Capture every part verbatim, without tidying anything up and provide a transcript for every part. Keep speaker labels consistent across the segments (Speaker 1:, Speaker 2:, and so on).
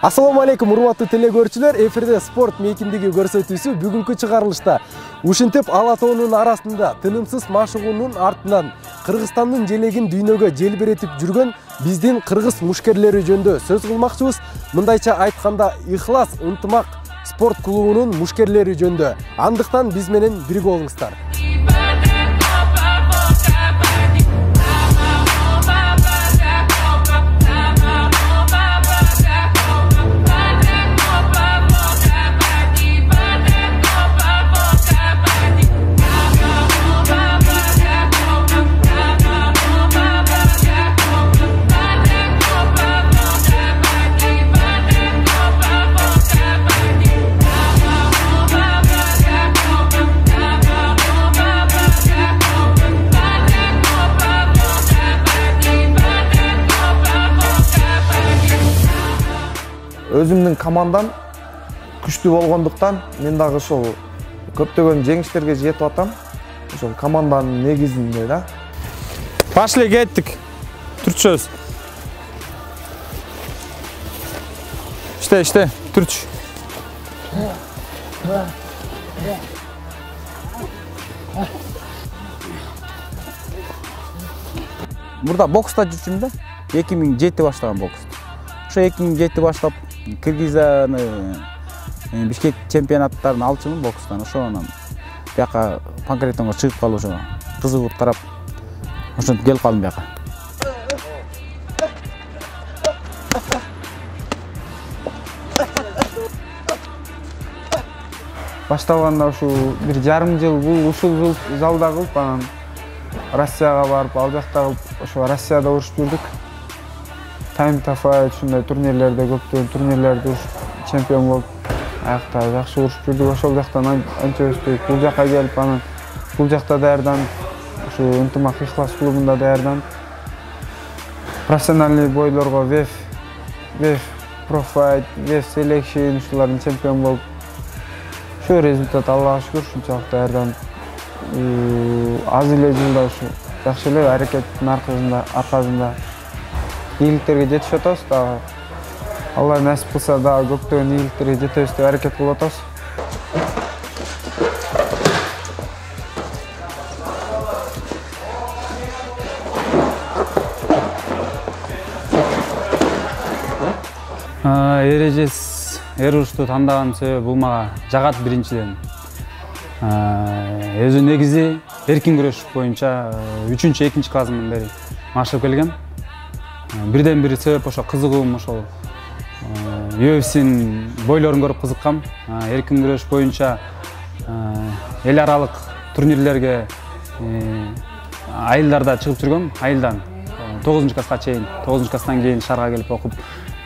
Speaker 1: Assalamu alaikum урматтуу телекөрүүчүлөр, эфирде спорт мейкиндиги көрсөтүүсү бүгүнкү чыгарылышта ушинтип ала тоонун арасында тынымсыз машыгуунун артынан Кыргызстандын желегин дүйнөгө желбиретип жүргөн биздин кыргыз мушкерлери жөнүндө сөз кылмакчыбыз. Мындайча айтканда, Ихлас ынтымак спорт клубунун мушкерлери жөнүндө. Андыктан биз менен бирге болуңуздар.
Speaker 2: Өзүмдүн командам күчтүү болгондуктан мен дагы ошол көптөгөн жеңиштерге жетип атам. Ошол команданын негизинде да.
Speaker 3: Пошли, кеттик. Түрчөбүз. Иште, иште, түрч. Мурда бокста жүрчүмүн да. эки миң жети баштаган бокс. Ошо эки миң жети баштап Кыргызстаны Бишкек чемпионаттарын алчумун бокстан. Ошонан бияка Панкратонго чыгып калып ошо кызыгып карап ошентип келип калдым бияка.
Speaker 2: Башталганда ушу бир жарым жыл бул ушул жыл залда кылып, анан Россияга барып, ал жакта кылып, ошо Россияда урушуп жүрдүк. Time to Fight ушундай турнирлерде көптөгөн турнирлерде урушуп чемпион болуп, аякта жакшы урушуп жүрдүк. Ошол жактан анча өстүк, бул жака келип, анан бул жакта даярданып, ушу ынтымак Ихлас клубунда даярданып, профессиональный бойлорго веф, веф Pro Fight, веф Selection ушулардын чемпион болуп, ошо результат Аллага шүгүр ушунчалык даярданып, аз эле жылда ушу жакшы эле аракеттин аркасында аркасында ийгиликтерге жетишип атабыз. Дагы Алла насип кылса дагы көптөгөн ийгиликтерге жетебиз деп аракет кылып атабыз.
Speaker 3: Эрежес эр урушту тандаган себеби бул мага жагат биринчиден. Өзү негизи эркин күрөш боюнча үчүнчү экинчи классымдан бери машыгып келгем. Бирден бир себеп ошо кызыгуум, ошол ю эф синин бойлорун көрүп кызыккам. Эркин күрөш боюнча эл аралык турнирлерге айылдарда чыгып жүргөм. Айылдан тогузунчу класска чейин, тогузунчу класстан кийин шаарга келип окуп,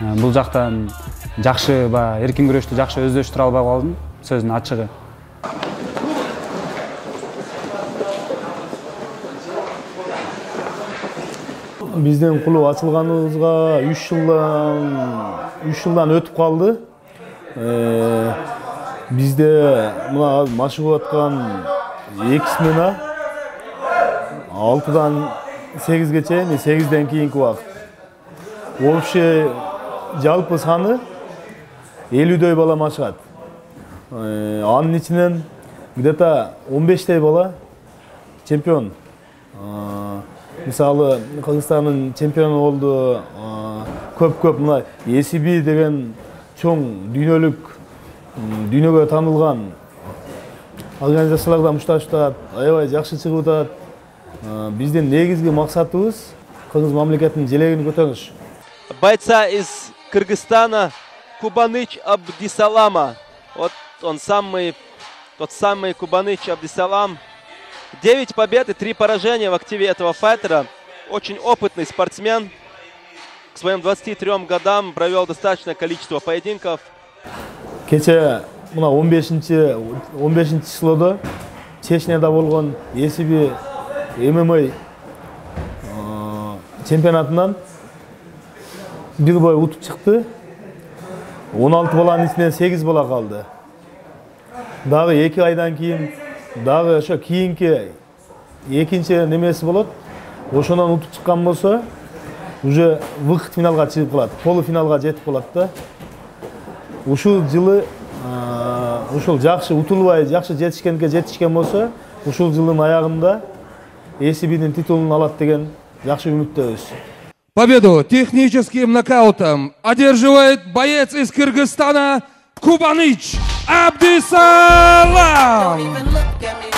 Speaker 3: бул жактан жакшы ба эркин күрөштү жакшы өздөштүрө албай калдым, сөздүн ачыгы.
Speaker 1: Биздин клуб ачылганыбызга үч жылдан үч жылдан өтүп калды. Бизде мына машыгып аткан эки смена алтыдан сегизге чейин, сегизден кийинки убакыт. Вообще жалпы саны элүүдөй бала машыгат. Анын ичинен где-то он бештей бала чемпион. Мисалы, Кыргызстандын чемпиону болду, көп-көп мына и эс би деген чоң дүйнөлүк, дүйнөгө таанылган организациялардан мушташ атат, аябай жакшы чыгып атат. Биздин негизги максатыбыз Кыргыз мамлекетинин желегин көтөрүш.
Speaker 4: Бойца из Кыргызстана Кубаныч Абдисалама. Вот он самый, тот самый Кубаныч Абдисалам. девять побед и три поражения в активе этого файтера. Очень опытный спортсмен. К своим двадцати трём годам провел достаточное количество поединков.
Speaker 1: Кече мына он бешинчи числода Чечняда болгон и эс би эм эм а чемпионатынан бир бой утуп чыкты. он алты баланын ичинен сегиз бала калды. Дагы эки айдан кийин дагы ошо кийинки экинчи немеси болот. Ошонан утуп чыккан болсо, уже выход финалга чыгып калат, полуфиналга жетип калат да. ушул жылы ушул жакшы утулбай жакшы жетишкенге жетишкен болсо, ушул жылдын аягында эй си би'нин титулун алат деген жакшы үмүттөбүз.
Speaker 5: Победу техническим нокаутом одерживает боец из Кыргызстана Кубаныч Абдисалам.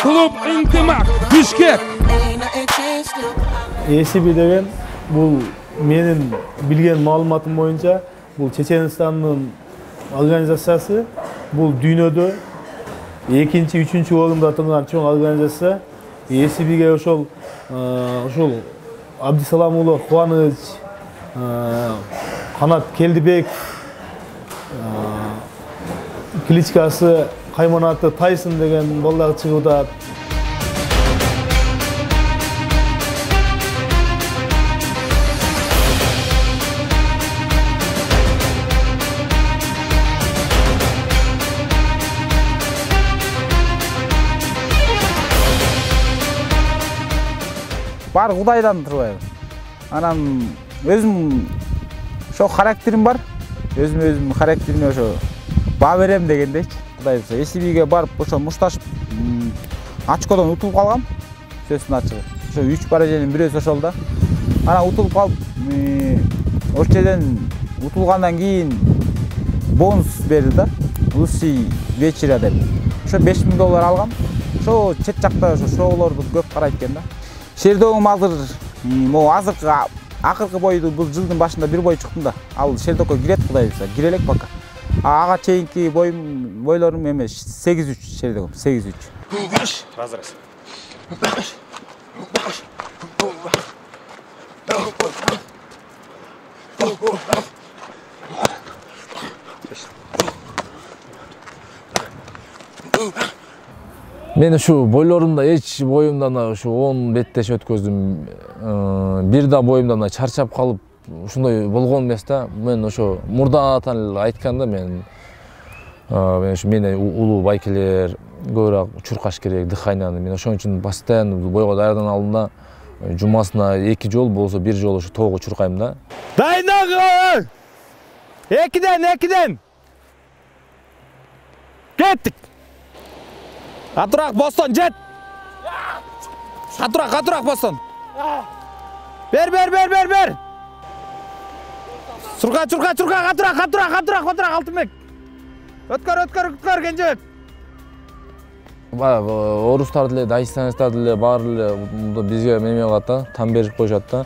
Speaker 5: Клуб Интимак, Бишкек.
Speaker 1: эй си би деген бул менин билген маалыматым боюнча бул Чеченстандын организациясы, бул дүйнөдө экинчи, үчүнчү орунда турган чоң организация. эй си би'ге ошол ошол Абдисалам уулу Кубаныч, Канат Келдибек, кличкасы Кайманаты Тайсон деген балдар чыгууда.
Speaker 2: Бар Кудайдан турбайбы. Анан өзүм ошо характерим бар. Өзүм өзүм характериме ошо баа берем дегендейчи. Кудай буюрса, эй си би'ге барып ошо мушташып очкодон утулуп калгам. Сөзсүн ачыгы. Ошо үч поражениянын бирөөсү ошол да. Анан утулуп калып, ошол жерден утулгандан кийин бонус берди да. Лучший вечера деп. Ошо беш миң доллар алгам. Ошо чет жакта ошо шоулорду көп карайт экен да. Шердогум азыр могу азыркы акыркы бойду бул жылдын башында бир бой чыктым да. Ал Шердокко кирет Кудай буюрса, кире элек пока. Ага чейинки боюм бойлорум эме сегиз үч Шердогум, сегиз үч. Разрез.
Speaker 6: Мен ушу бойлорумда эч боюмдан ушу он беттеш өткөздүм. Бир да боюмдан чарчап калып ушундай болгон эмес да. Мен ошо мурдатан эле айтканда мен мен ушу мени улуу байкелер көбүрөөк чуркаш керек, дыханияны. Мен ошон үчүн постоянно бойго даярданып алдым да. Жумасына эки жол болсо бир жол ошо тоого чуркайм да.
Speaker 1: Дайындалгыла! Экиден, экиден! Кеттик! Катыраак бостон, жет! Катыраак, катыраак бостон! Бер, бер, бер, бер, бер! Чурка, чурка, чурка, катыраак, катыраак, катыраак, катыраак, Алтынбек! Өткөр, өткөр, өткөр, Кенжебек!
Speaker 6: Орустар деле, дагестанецтер деле баары эле бизге неме кылат да, там берип коюшат да.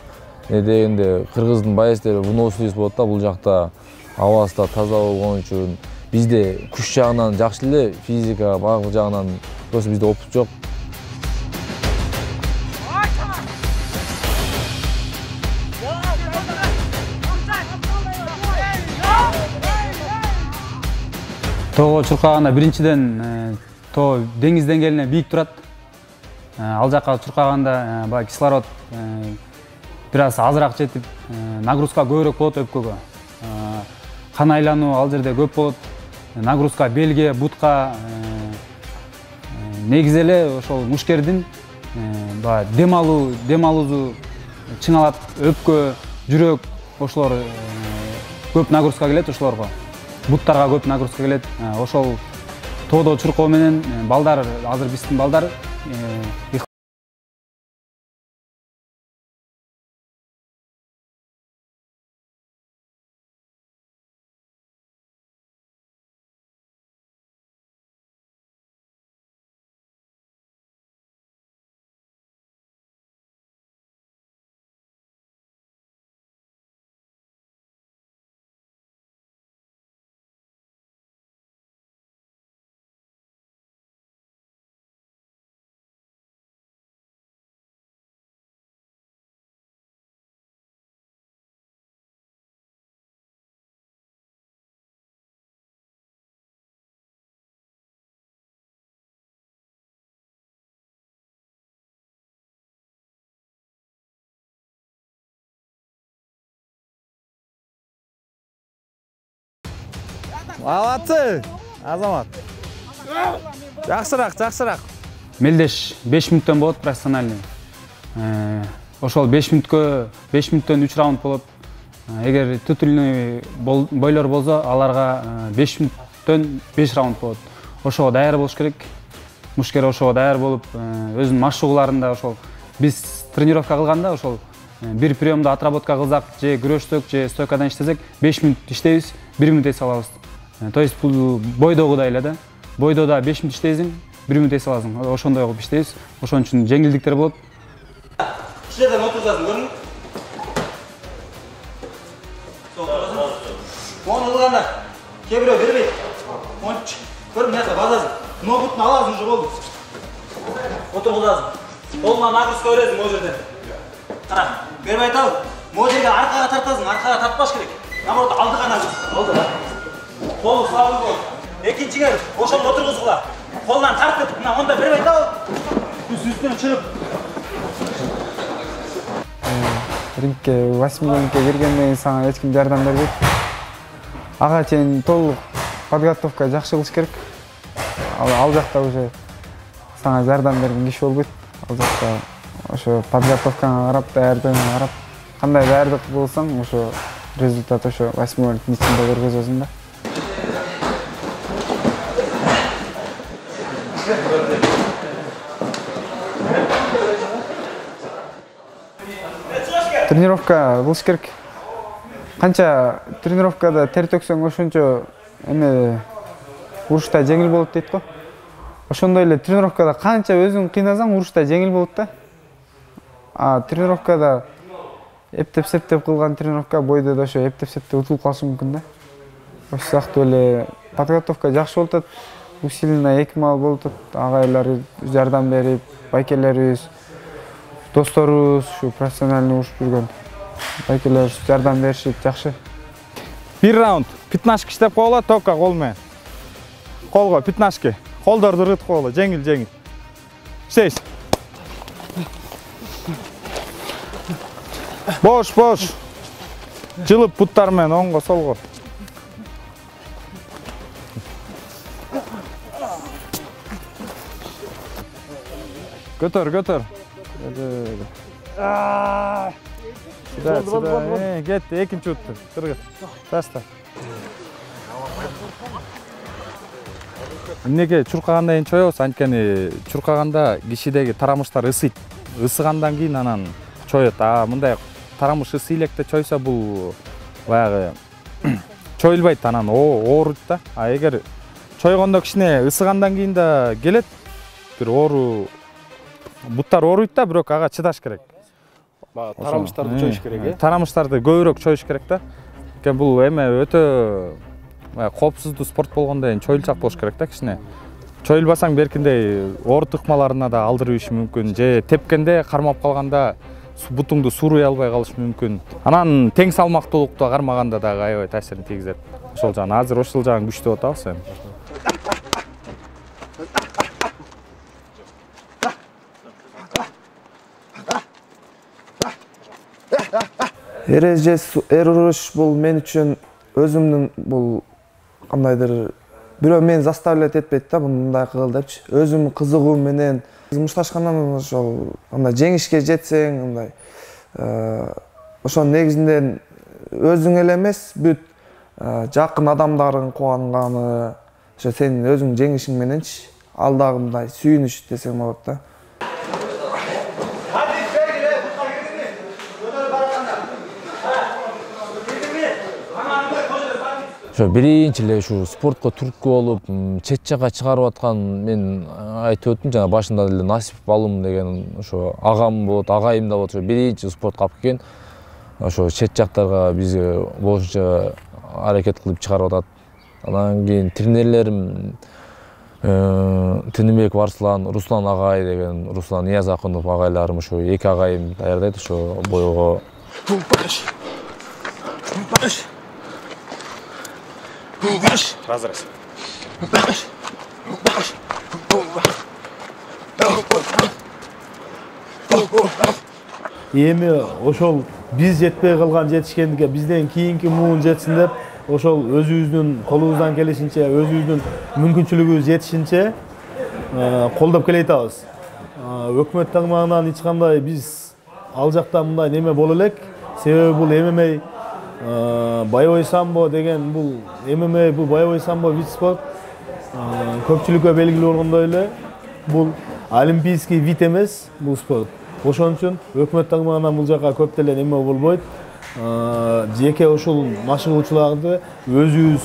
Speaker 6: Не дегенде кыргыздын боецтери выносливость болот да, бул жакта абасы да таза болгон үчүн. Бизде күч жагынан жакшы эле, физика, баардык жагынан просто бизде опыт жок.
Speaker 3: Тоого чуркаганда биринчиден тоо деңиз деңгээлине бийик турат. Ал жакка чуркаганда баягы кислород бир аз азыраак жетип, нагрузка көбүрөөк болот өпкөгө. Кан айлануу ал жерде көп болот. Нагрузка белге, бутка, негизи эле ошол мушкердин баягы дем алуу, дем алуусу чыңалат, өпкө, жүрөк ошолор көп нагрузка келет ошолорго. Буттарга көп нагрузка келет. Ошол тоодо чуркоо менен балдар, азыр биздин балдар
Speaker 1: Алатсы, Азамат. Жакшыраак, жакшыраак.
Speaker 3: Мелдеш беш мүнөттөн болот профессиональный. Ошол беш мүнөткө беш мүнөттөн үч раунд болот. Эгер титульный бойлор болсо, аларга беш мүнөттөн беш раунд болот. Ошого даяр болуш керек. Мушкер ошого даяр болуп, өзүнүн машыгууларында ошол биз тренировка кылганда ошол бир приемду отработка кылсак, же күрөштүк, же стойкадан иштесек, беш мүнөт иштейбиз, бир мүнөт эс алабыз. То есть бул бойдогудай эле да. Бойдо да беш мүнөт иштейсиң, бир мүнөт эс аласың. Ошондой кылып иштейбиз. Ошон үчүн жеңилдиктер болот.
Speaker 7: Кишилерден отурсаң көрүң. Оны ылганда кээ бирөө бербейт. Монч көрүң мына базасың. Ногутун аласың уже болду. Отургузасың. Колуңан нагрузка бересиң могу жерден. Кара, бербей атабыз. Могу жерге аркага тартасың, аркага тартпаш керек. Наоборот, алдыга нагруз. Алдыга. Колу сабыз бол. Экинчиге ошону отургузгула. Колунан тартып, мына монда бербей атабыз. Үстүнөн чыгып.
Speaker 2: Рингке восьмиликке киргенден кийин сага эч ким жардам бербейт. Ага чейин толук подготовка жакшы кылыш керек. Ал жакта уже сага жардам берген киши болбойт. Ал жакта ошо подготовкаңа карап, даярдыгыңа карап, кандай даярдык болсоң, ошо результат ошо восьмиликтин ичинде көргөзөсүң да. Тренировка кылыш керек. Канча тренировкада тер төксөң, ошончо эме урушта жеңил болот дейт го. Ошондой эле тренировкада канча өзүң кыйнасаң, урушта жеңил болот да. А тренировкада эптеп-септеп кылган тренировка бойдо да ошо эптеп-септеп утулуп калышы мүмкүн да. Ошол сыяктуу эле подготовка жакшы болуп атат. Усиленно эки мал болуп атат. Агайлар жардам берип, байкелерибиз, досторубуз, ушу профессиональный урушуп жүргөн байкелер жардам беришип жакшы.
Speaker 8: Бир раунд пятнашка иштеп койгула, только кол менен. Колго пятнашка. Колдорду ыргытып койгула, жеңил-жеңил. Иштейсиз. Бош, бош. Жылып буттар менен оңго, солго. Көтөр, көтөр. Сюда, сюда. Кетти, экинчи утту. Кыргыз. Таста. Эмнеге чуркагандан кийин чоебуз, анткени чуркаганда кишидеги тарамыштар ысыйт. Ысыгандан кийин анан чоет. А мындай тарамыш ысы электе чойсо бул баягы чоюлбайт, анан ооруйт да. А эгер чойгондо кичине ысыгандан кийин да келет. Бир оору буттар ооруйт да, бирок ага чыдаш керек.
Speaker 9: Тарамыштарды чоюш керек, э?
Speaker 8: Тарамыштарды көбүрөөк чоюш керек да. Экен бул эме өтө коопсуздуу спорт болгондон кийин чоюлчак болуш керек да кичине. Чоюлбасаң беркиндей оору тыкмаларына да алдырыш мүмкүн, же тепкенде кармап калганда бутуңду сууруй албай калыш мүмкүн. Анан тең салмактуулукту кармаганда дагы аябай таасирин тийгизет. Ошол жагын азыр ошол жагын күчтүү атабыз эми.
Speaker 10: Эреже эр уруш бул мен үчүн өзүмдүн бул кандайдыр бирөө мени заставлять этпейт да, мындай кыл депчи. Өзүм кызыгуу менен мушташкандан ошол андай жеңишке жетсең, андай ошонун негизинде өзүң эле эмес, бүт жакын адамдарың кубанганы, ошо сенин өзүң жеңишиң мененчи, ал дагы мындай сүйүнүч десең болот да.
Speaker 6: Ошо биринчи эле ушу спортко түрткү болуп, чет жакка чыгарып аткан мен айтып өттүм, жана башында эле Насип Балым деген ошо агам болот, агайым да болот, ошо биринчи спортко алып келген. Ошо чет жактарга бизге болушунча аракет кылып чыгарып атат. Анан кийин тренерлерим Тыныбеков Арслан, Руслан агай деген, Руслан Ниязакунов агайларым, ошо эки агайым даярдайт ошо бойго.
Speaker 8: Разрез.
Speaker 1: Эми ошол биз жетпей калган жетишкендикке бизден кийинки муун жетсин деп, ошол өзүбүздүн колубуздан келишинче, өзүбүздүн мүмкүнчүлүгүбүз жетишинче колдоп келе атабыз. Өкмөт тармагынан эч кандай биз ал жакта мындай неме боло элек, себеби бул эм эм а боевой самбо деген бул эм эм а, бул боевой самбо вид спорт көпчүлүккө белгилүү болгондой эле бул олимпийский вид эмес бул спорт. Ошон үчүн өкмөт тармагынан бул жака көп деле неме болбойт. Жеке ушул машыгуучуларды өзүбүз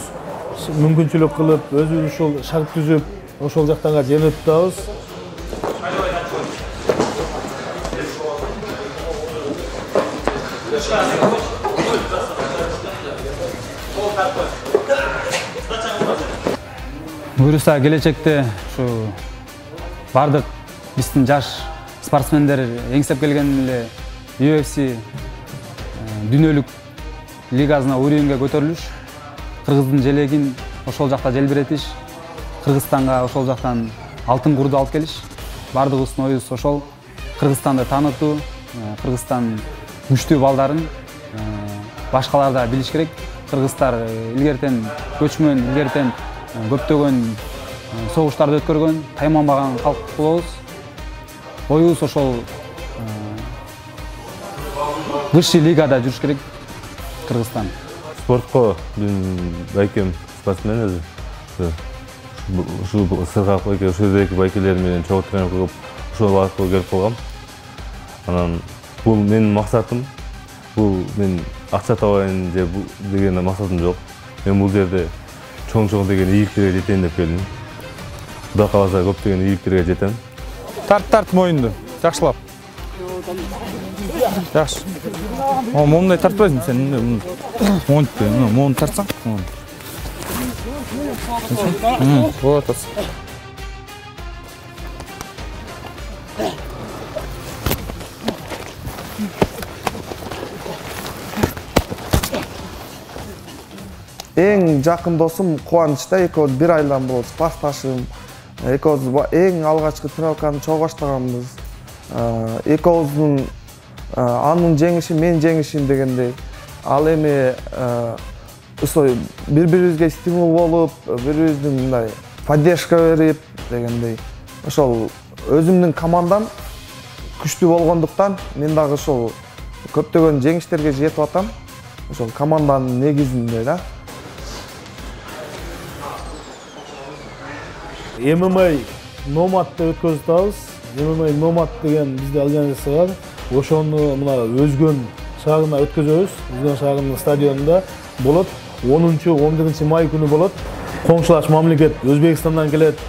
Speaker 1: мүмкүнчүлүк кылып, өзүбүз ушул шарт түзүп, ошол жактарга жөнөтүп турабыз.
Speaker 3: Буюрса келечекте ушу бардык биздин жаш спортсмендер эңсеп келген эле ю эф си дүйнөлүк лигасына уровеньге көтөрүлүш, Кыргыздын желегин ошол жакта желбиретиш, Кыргызстанга ошол жактан алтын курду алып келиш. Бардыгыбыздын оюбуз ошол. Кыргызстанды таанытуу, Кыргызстан күчтүү балдарын башкалар да билиш керек. Кыргыздар илгертен көчмөн, илгертен көптөгөн согуштарды өткөргөн, тайманбаган калк болобуз. Оюбуз ошол высший лигада жүрүш керек Кыргызстан.
Speaker 11: Спортко мен байкем спортсмен өзү. Ушул сыргак байке, ушул байкелер менен чогуу тренинг кылып, ушул аркылуу келип калгам. Анан бул менин максатым. Бул мен акча табайын же деген максатым жок. Мен бул жерде чоң-чоң деген ийгиликтерге жетейин деп келдим. Кудай кааласа көптөгөн ийгиликтерге жетем.
Speaker 8: Тарт тарт моюнду, жакшылап. Жакшы. О, момундай тартпайсың сен. Монтпе, моун тартсаң. Вот.
Speaker 10: Эң жакын досум Кубанычта, экөөбүз бир айдан болот, классташым. Экөөбүз эң алгачкы тренировканы чогуу баштаганбыз. Экөөбүздүн анын жеңиши менин жеңишим дегендей. Ал эми ошо бири-бирибизге стимул болуп, бири-бирибиздин мындай поддержка берип дегендей. Ошол өзүмдүн командам күчтүү болгондуктан мен дагы ошол көптөгөн жеңиштерге жетип атам. Ошол команданын негизинде да.
Speaker 1: эм эм а номадты өткөзүп атабыз. эм эм а номад деген бизде организация бар. Ошону мына Өзгөн шаарына өткөзөбүз. Өзгөн шаарынын стадионунда болот. онунчу он биринчи май күнү болот. Коңшулаш мамлекет Өзбекстандан келет,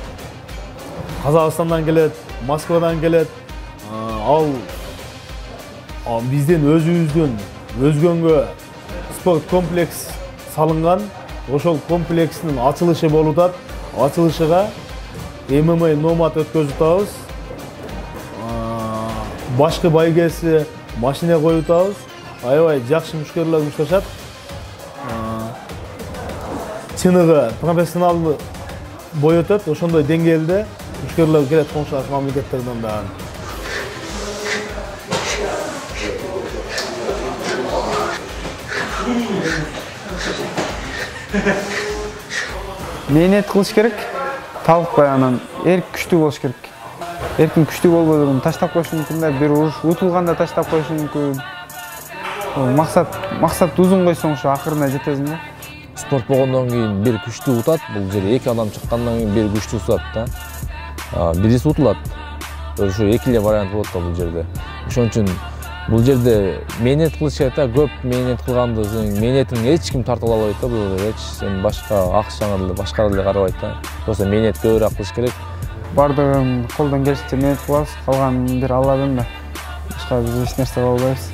Speaker 1: Казакстандан келет, Москвадан келет. Ал бизден өзүбүздүн Өзгөнгө спорт комплекс салынган. Ошол комплекстин ачылышы болуп атат. Ачылышыга эм эм а номад өткөзүп атабыз. Башкы байгеси машина коюп атабыз. Аябай жакшы мушкерлер мушташат. Чыныгы профессионалдуу бой өтөт. Ошондой деңгээлде мушкерлер келет коңшулаш мамлекеттерден дагы.
Speaker 2: Мээнет кылыш керек. Талыкпай анан эрк күчтүү болуш керек. Эркин күчтүү болбой турган таштап коюш мүмкүн да, бир уруш утулганда таштап коюш мүмкүн. Максат максат узун койсоң ушу акырына жетесиң да.
Speaker 6: Спорт болгондон кийин бир күчтүү утат, бул жерде эки адам чыккандан кийин бир күчтүү утат да. Бириси утулат. Ошо эки эле вариант болот да бул жерде. Ошон үчүн бул жерде мээнет кылыш керек да, көп мээнет кылганды мээнетин эч ким тарта албайт да, бул жерде эч сен башка акчаңа деле башка деле карабайт да. Просто мээнет көбүрөөк кылыш керек.
Speaker 2: Бардыгын колдон келишинче мээнет кылабыз, калганын бир Алладан да. Башка биз эч нерсе кыла албайбыз.